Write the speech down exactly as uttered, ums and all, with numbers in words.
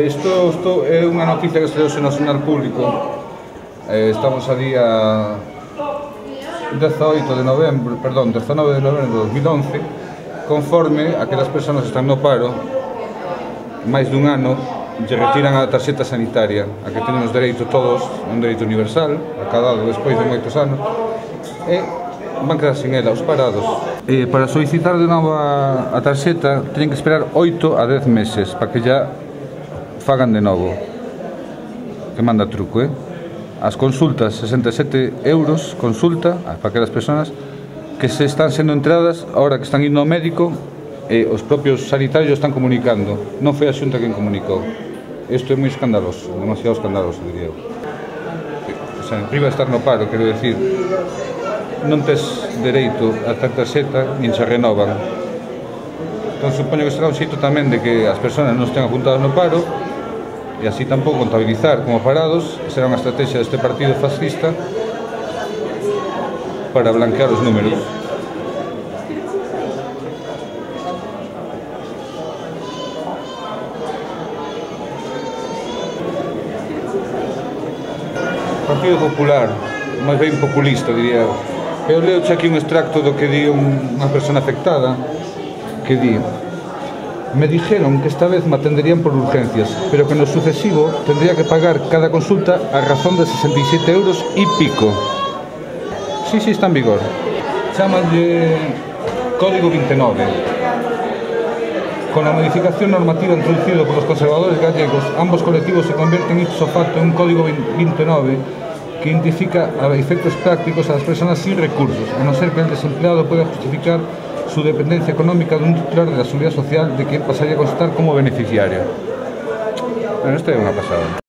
Eh, isto, isto é unha noticia que estreouse no Xornal Público. Eh, estamos a día dezaoito de novembro, perdón, dezanove de novembro de dos mil once, conforme aquelas persoas que están no paro máis dun ano lle retiran a tarxeta sanitaria, a que tenemos dereito todos, un dereito universal, acadado despois de moitos anos, e van quedar sin ela, os parados. E para solicitar de novo a, a tarxeta teñen que esperar oito a dez meses para que ya fagan de novo, que manda truco, eh? As consultas, sesenta e sete euros consulta para aquelas persoas que se están sendo entradas ahora que están indo ao médico e os propios sanitarios están comunicando. Non foi a Xunta quen comunicou. Isto é moi escandaloso, demasiado escandaloso, diría eu. O sea, priva de estar no paro, quero decir, non tes dereito a esta tarxeta nin se renovan. Entón, supoño que será un xeito tamén de que as persoas non estén apuntadas no paro e así tampouco contabilizar como parados. Será unha estrategia deste partido fascista para blanquear os números. Partido Popular, máis ben populista, diría eu. Eu leo aquí un extracto do que di unha persona afectada, que di: me dijeron que esta vez me atenderían por urgencias, pero que en lo sucesivo tendría que pagar cada consulta a razón de sesenta y siete euros y pico. Sí, sí, está en vigor. Chámanlle Código veintinueve. Con la modificación normativa introducida por los conservadores gallegos, ambos colectivos se convierten ipso facto en un Código veintinueve que identifica a efectos prácticos a las personas sin recursos, a no ser que el desempleado pueda justificar su dependencia económica de un titular de la Seguridad Social, de quien pasaría a constar como beneficiario. Bueno, esto es una pasada.